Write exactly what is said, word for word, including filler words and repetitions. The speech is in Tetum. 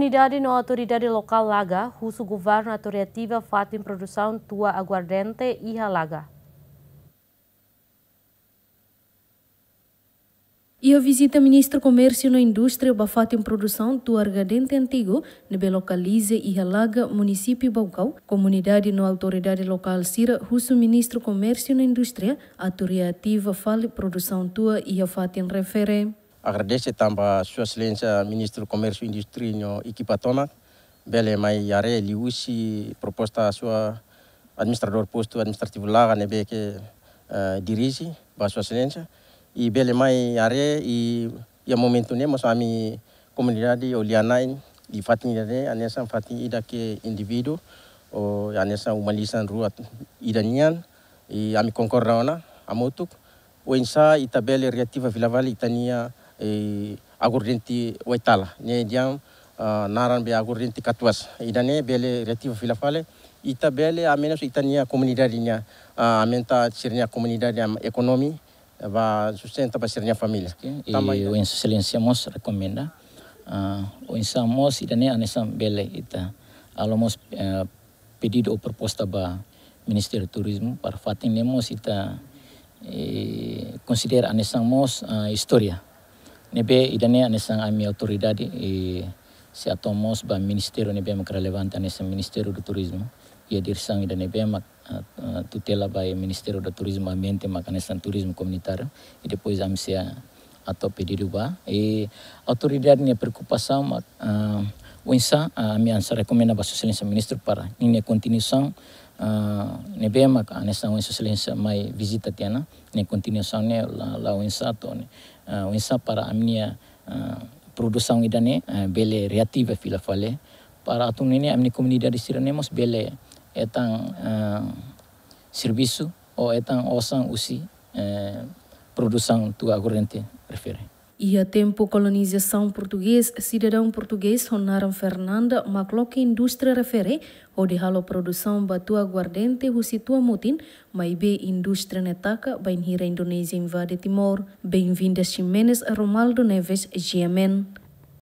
Komunidade no autoridade lokál Laga husu governu atu reativa fatin produsaun tua aguardente iha Laga. Iha vizita Ministru Komérsiu no Indústria ba fatin produsaun tua aguardente antigu ne'ebé lokaliza iha Laga, munisípiu Baucau, komunidade no autoridade lokál sira husu Ministru Komérsiu no Indústria atu reativa fali produsaun tua iha fatin refere. Agradese tanba Sua Exelénsia Ministru Komérsiu, Indústria no ekipa tomak bele mai haree liuhusi proposta Sua Administradór Postu Administrativu Laga ne'ebé ke, eh, dirije ba Sua Exelénsia. I bele mai haree i iha momentu ne'e mós ami komunidade ho lia-na'in iha fatin ida-ne'e hanesan fatin ida ke indivíduu ou hanesan uma-lisan rua ida nian. I ami konkorda ona hamutuk oinsá ita bele reativa fila fali ita-nia, eh, aguardente Waitala. Ne'e diam, ah, naran be aguardente Katuas. Ida-ne'e bele reativa fila fali, ita bele hamenus ita-nia komunidade nian, ah, aumenta sira-nia komunidade nian ekonomia, ba sustenta ba sira-nia família. Oke, tanba i ida. Oinsá Sua Exelénsia mós rekomenda, ah, oinsá mós ida-ne'e hanesan bele ita halo mós, eh, pedidu ou proposta ba Ministériu Turizmu para fatin ne'e mós ita, eh, konsidera hanesan mós, ah, istória. Ne'ebé ida-ne'e hanesan ami autoridade, eh, sei hato'o mós ba ministériu ne'ebé mak relevante hanesan Ministériu do Turizmu. Iha diresaun ida ne'ebé mak, ah, ah, tutela ba Ministériu do Turizmu Ambiente mak hanesan Turizmu Komunitáriu. I depois ami sei hato'o pedidu ba. I autoridade nia preokupasaun mak, ah, oinsá, ah, ami hanesan rekomenda ba Sua Exelénsia Ministru para ninia kontinuasaun, ah, ne'ebé mak hanesan ohin Sua Exelénsia mai vizita tiha ona, nia kontinuasaun ne'e la, la oinsá to'o ne'e, ah, oinsá para ami-nia, ah, produsaun ida-ne'e, ah, bele reativa fila fali. Para atu nune'e ami-nia komunidade sira-ne'e mós bele hetan, ah, servisu ou hetan osan husi, eh, produsaun tua aguardente refere. Iha tempu kolonizasaun portugés, sidadaun portugés ho naran Fernanda mak loke indústria refere hodi halo produsaun ba tua aguardente husi tua mutin, maibé indústria ne'e taka bainhira Indonézia invade Timor. Benvinda Ximenes, Romaldo Neves, G M N.